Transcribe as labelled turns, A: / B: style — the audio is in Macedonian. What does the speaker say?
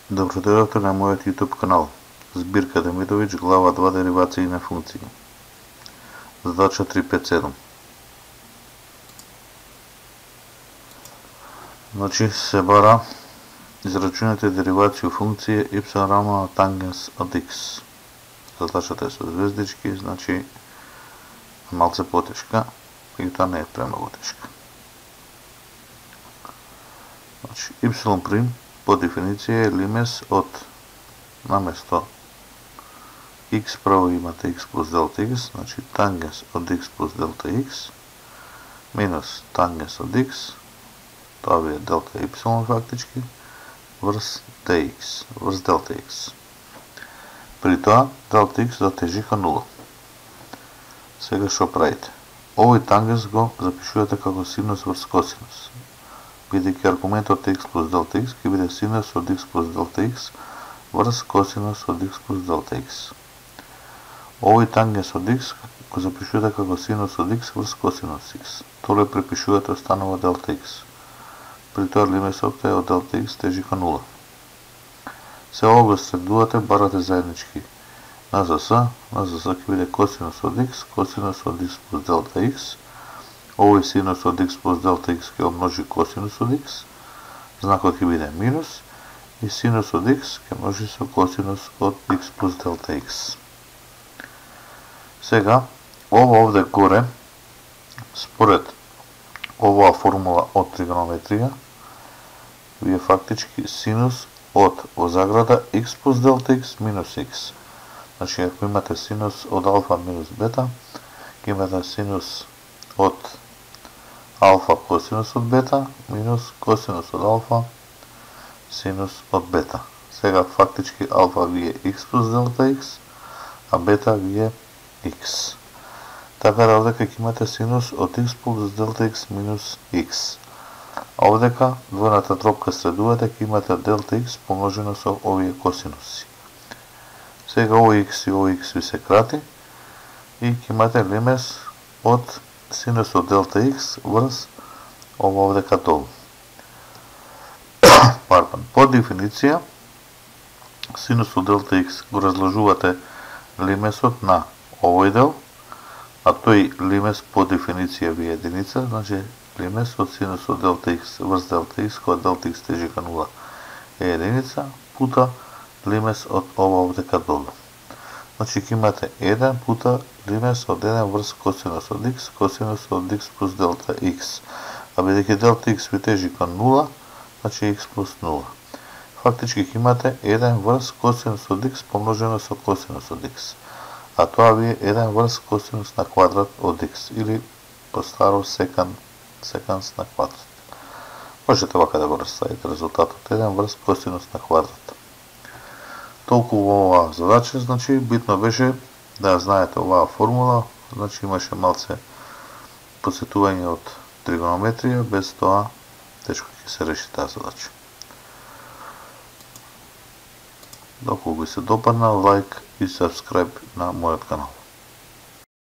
A: Добродојавте на мојот YouTube канал. Збирка Демидовиќ, глава 2, деривации на функции. Задача 357. Значи се бара израчунете деривација функција y равно на тангенс од x. Задачата е со звездички, значи малце потешка, меѓутоа не е премногу тешка. Значи y' по дефиниција е лимес од наместо x право имате x плюс делта x, значи тангенс од x плюс делта x минус тангенс од x, тоа ви е делта y фактички, врз dx, врз делта x. При тоа делта x дотежи кон 0. Сега што правите? Овој тангенс го запишувате како синус врз косинус. Бидејќи аргументот x плюс делта x ќе биде синус од x плюс делта x врз косинус од x плюс делта x. Овој тангенс од x го запишувате како синус од x врз косинус x. Тоа препишувате, останува делта x. При тоа лимесот е од делта x тежи кон 0. Се ова го средувате, барате заеднички на зс ќе биде косинус од x плюс делта x. Овој синус од x плюс делта x ќе умножи косинус од x, знакот ќе биде минус, и синус од x ќе множи со косинус од x плюс делта x. Сега, ова овде горе, според оваа формула од тригонометрија, ви е фактички синус од во заграда x плюс делта x минус x. Значи, ако имате синус од алфа минус бета, ќе имате синус од алфа косинус од бета минус косинус од алфа синус од бета. Сега фактички алфа ви е x плюс делта x, а бета ви е x. Така да овдека ќе имате синус од x плюс делта x минус x. А овдека двојната тропка средувате, ќе имате делта x помножено со овие косинуси. Сега овој x ви се крати и ќе имате лимес од синус од делта x врз ова овдека долу. По дефиниција, синус од делта x го разложувате лимесот на овој дел, а тој лимес по дефиниција ви е единица, значи лимес од синус од делта x врз делта x, кога делта x тежи кон 0 е единица, пута лимес од ова овдека долу. Значи ќе имате 1 пута лимес од 1 врз косинус од x плюс делта x. А бидејќи делта x ви тежи кон 0, значи x плюс 0. Фактички ќе имате 1 врз косинус од x помножено со косинус од x. А тоа ви е 1 врз косинус на квадрат од x, или по-старо секанс на квадрат. Можете вака да го расставите резултатот, 1 врз косинус на квадрат. Толку во оваа задача, значи битно беше да ја знаете оваа формула, значи имаше малце посетување од тригонометрија, без тоа тешко ќе се реши таа задача. Доколку ви се допадна, лайк и сабскрайб на мојот канал.